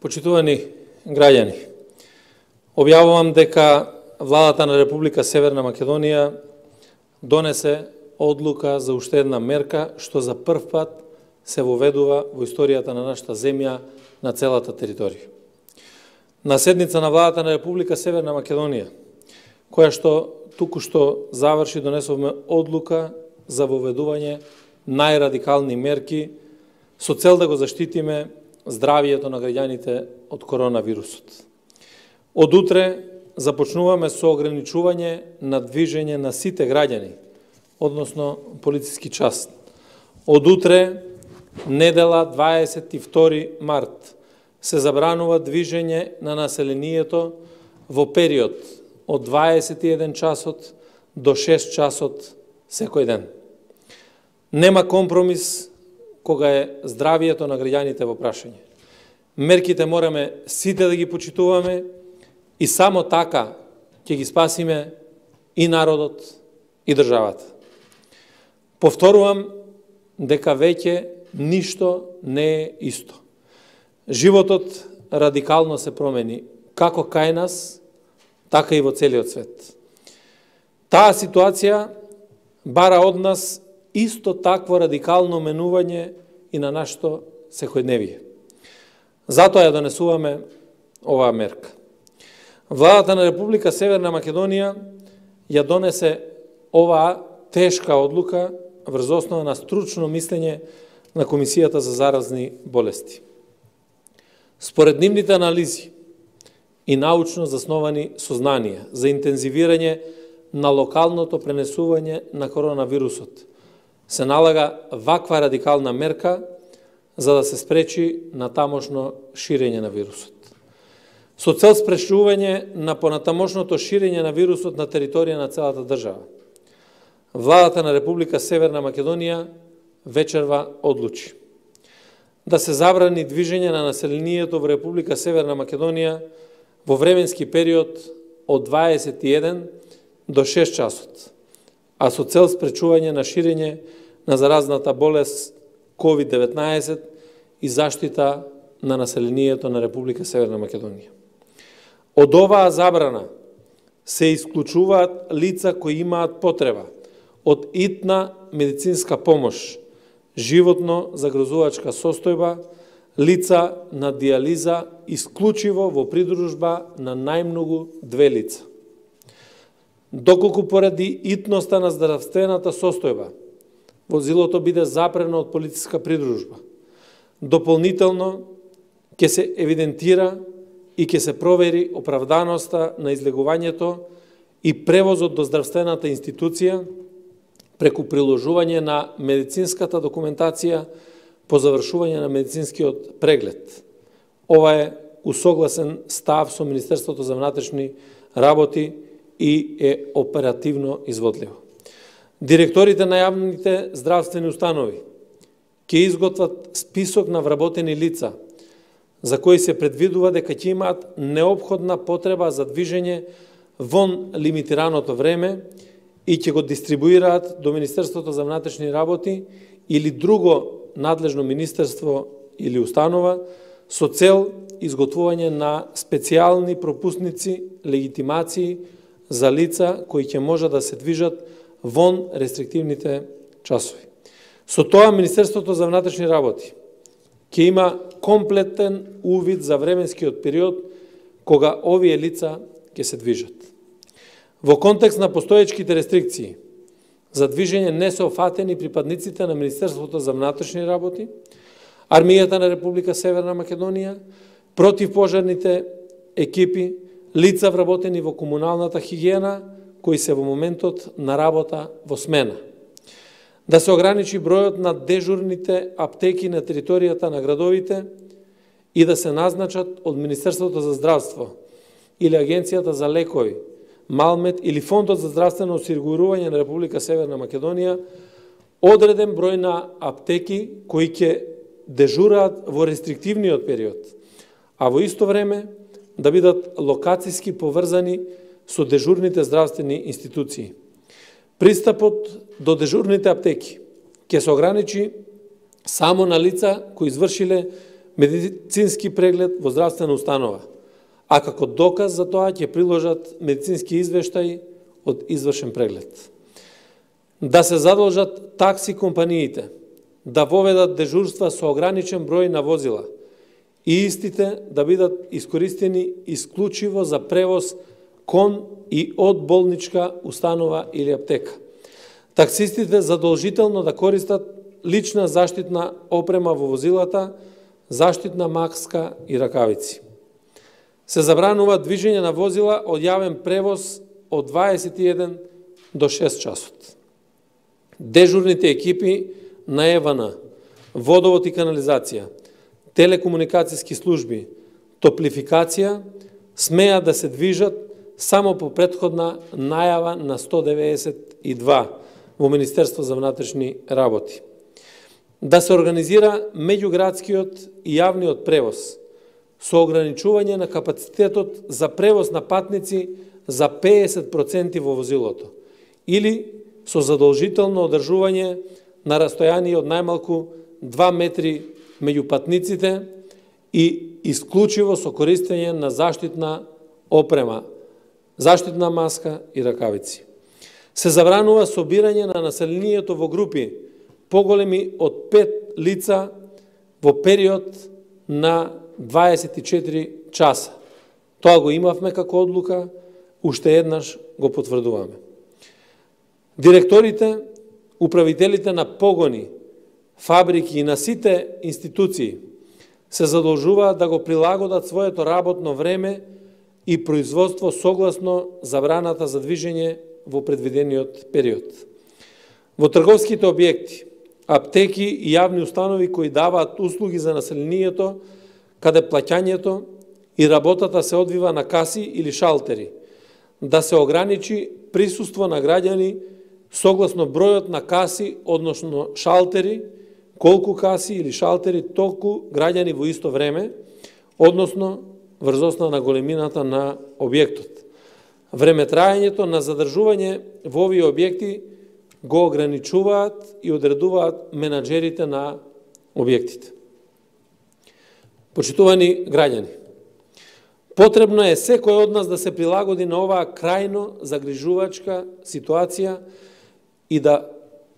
Почитувани граѓани, објавувам дека Владата на Република Северна Македонија донесе одлука за уште една мерка што за прв пат се воведува во историјата на нашата земја на целата територија. На седница на Владата на Република Северна Македонија, која што туку-што заврши, донесовме одлука за воведување најрадикални мерки со цел да го заштитиме здравието на граѓаните од коронавирусот. Од утре започнуваме со ограничување на движење на сите граѓани, односно полициски час. Од утре, недела 22 март, се забранува движење на населението во период од 21 часот до 6 часот секој ден. Нема компромис кога е здравието на граѓаните во прашање. Мерките мораме сите да ги почитуваме и само така ќе ги спасиме и народот и државата. Повторувам дека веќе ништо не е исто. Животот радикално се промени, како кај нас, така и во целиот свет. Таа ситуација бара од нас исто такво радикално менување и на нашето секојдневие. Затоа ја донесуваме оваа мерка. Владата на Република Северна Македонија ја донесе оваа тешка одлука врз основа на стручно мислење на Комисијата за заразни болести. Според нивните анализи и научно засновани сознанија за интензивирање на локалното пренесување на коронавирусот, се налага ваква радикална мерка за да се спречи на тамошно ширење на вирусот. Со цел спречување на понатамошното ширење на вирусот на територија на целата држава, Владата на Република Северна Македонија вечерва одлучи да се забрани движење на населението во Република Северна Македонија во временски период од 21 до 6 часот, а со цел спречување на ширење на заразната болест COVID-19 и заштита на населението на Република Северна Македонија. Од оваа забрана се исклучуваат лица кои имаат потреба од итна медицинска помош, животно загрозувачка состојба, лица на диализа исклучиво во придружба на најмногу 2 лица. Доколку поради итноста на здравствената состојба возилото биде запрено од полициска придружба, дополнително ќе се евидентира и ќе се провери оправданоста на излегувањето и превозот до здравствената институција преку приложување на медицинската документација по завршување на медицинскиот преглед. Ова е усогласен став со Министерството за внатрешни работи и е оперативно изводливо. Директорите на јавните здравствени установи ќе изготват список на вработени лица за кои се предвидува дека ќе имаат неопходна потреба за движење вон лимитираното време и ќе го дистрибуираат до Министерството за внатрешни работи или друго надлежно министерство или установа со цел изготвување на специјални пропусници, легитимации за лица кои ќе може да се движат вон рестриктивните часови. Со тоа Министерството за внатрешни работи ќе има комплетен увид за временскиот период кога овие лица ќе се движат. Во контекст на постоечките рестрикции за движење не се офатени припадниците на Министерството за внатрешни работи, Армијата на Република Северна Македонија, противпожарните екипи, лица вработени во комуналната хигиена, кои се во моментот на работа во смена. Да се ограничи бројот на дежурните аптеки на територијата на градовите и да се назначат од Министерството за здравство или Агенцијата за лекови, Малмет или Фондот за здравствено осигурување на Република Северна Македонија одреден број на аптеки кои ќе дежураат во рестриктивниот период, а во исто време да бидат локациски поврзани со дежурните здравствени институции. Пристапот до дежурните аптеки ќе се ограничи само на лица кои извршиле медицински преглед во здравствена установа, а како доказ за тоа ќе приложат медицински извештаи од извршен преглед. Да се задолжат такси компаниите да воведат дежурства со ограничен број на возила и истите да бидат искористени исклучиво за превоз кон и од болничка установа или аптека. Таксистите задолжително да користат лична заштитна опрема во возилата, заштитна маска и ракавици. Се забранува движење на возила од јавен превоз од 21 до 6 часот. Дежурните екипи на ЕВН, водовод и канализација, телекомуникацијски служби, топлификација смеат да се движат само по претходна најава на 192 во Министерство за внатрешни работи. Да се организира меѓуградскиот и јавниот превоз со ограничување на капацитетот за превоз на патници за 50% во возилото или со задолжително одржување на растојание од најмалку 2 метри меѓу патниците и исклучиво со користење на заштитна опрема, заштитна маска и ракавици. Се забранува собирање на населението во групи поголеми од 5 лица во период на 24 часа. Тоа го имавме како одлука, уште еднаш го потврдуваме. Директорите, управителите на погони, фабрики и на сите институции се задолжуваат да го прилагодат своето работно време и производство согласно забраната за движење во предвидениот период. Во трговските објекти, аптеки и јавни установи кои даваат услуги за населението, каде плаќањето и работата се одвива на каси или шалтери, да се ограничи присуство на граѓани согласно бројот на каси, односно шалтери, колку каси или шалтери, толку граѓани во исто време, односно врз основа на големината на објектот. Времетрајањето на задржување во овие објекти го ограничуваат и одредуваат менаџерите на објектите. Почитувани граѓани, потребно е секој од нас да се прилагоди на оваа крајно загрижувачка ситуација и да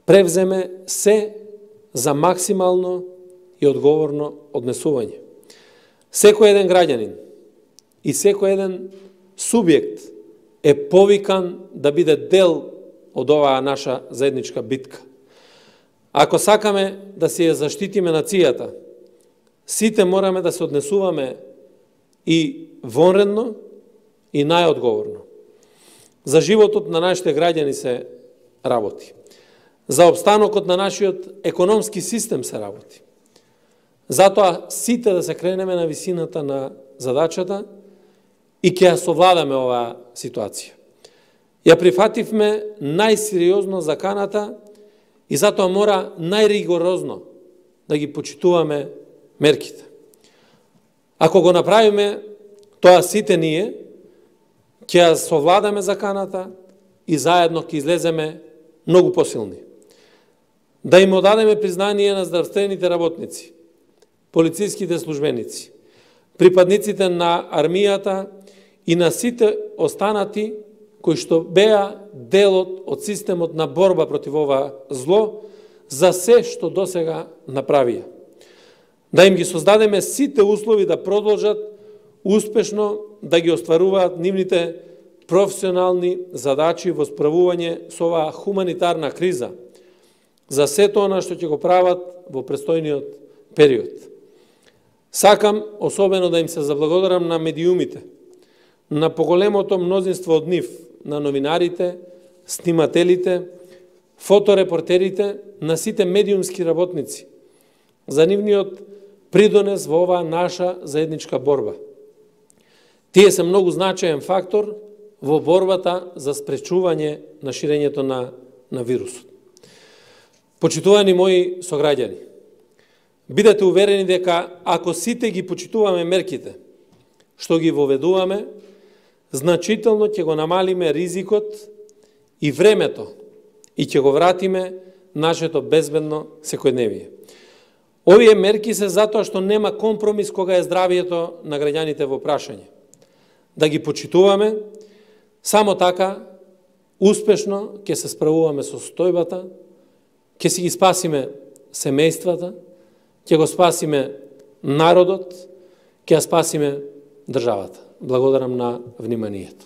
превземе се за максимално и одговорно однесување. Секој еден граѓанин и секој еден субјект е повикан да биде дел од оваа наша заедничка битка. Ако сакаме да се ја заштитиме нацијата, сите мораме да се однесуваме и вонредно и најодговорно. За животот на нашите граѓани се работи. За обстанокот на нашиот економски систем се работи. Затоа сите да се кренеме на висината на задачата и ќе ја совладаме оваа ситуација. Ја прифативме најсериозно заканата и затоа мора најригорозно да ги почитуваме мерките. Ако го направиме тоа сите ние, ќе ја совладаме заканата и заедно ќе излеземе многу посилни. Да им одадеме признание на здравствените работници, полициските службеници, припадниците на армијата и на сите останати кои што беа делот од системот на борба против ова зло за се што досега направија. Да им ги создадеме сите услови да продолжат успешно да ги остваруваат нивните професионални задачи во справување со оваа хуманитарна криза, за сето она што ќе го прават во престојниот период. Сакам особено да им се заблагодарам на медиумите, на поголемото мнозинство од нив, на новинарите, снимателите, фоторепортерите, на сите медиумски работници, за нивниот придонес во оваа наша заедничка борба. Тие се многу значаен фактор во борбата за спречување на ширењето на вирусот. Почитувани мои сограѓани, бидете уверени дека ако сите ги почитуваме мерките што ги воведуваме, значително ќе го намалиме ризикот и времето и ќе го вратиме нашето безбедно секојдневие. Овие мерки се затоа што нема компромис кога е здравието на граѓаните во прашање. Да ги почитуваме, само така успешно ќе се справуваме со состојбата, ќе си ги спасиме семејствата, ќе го спасиме народот, ќе ја спасиме државата. Благодарам на вниманието.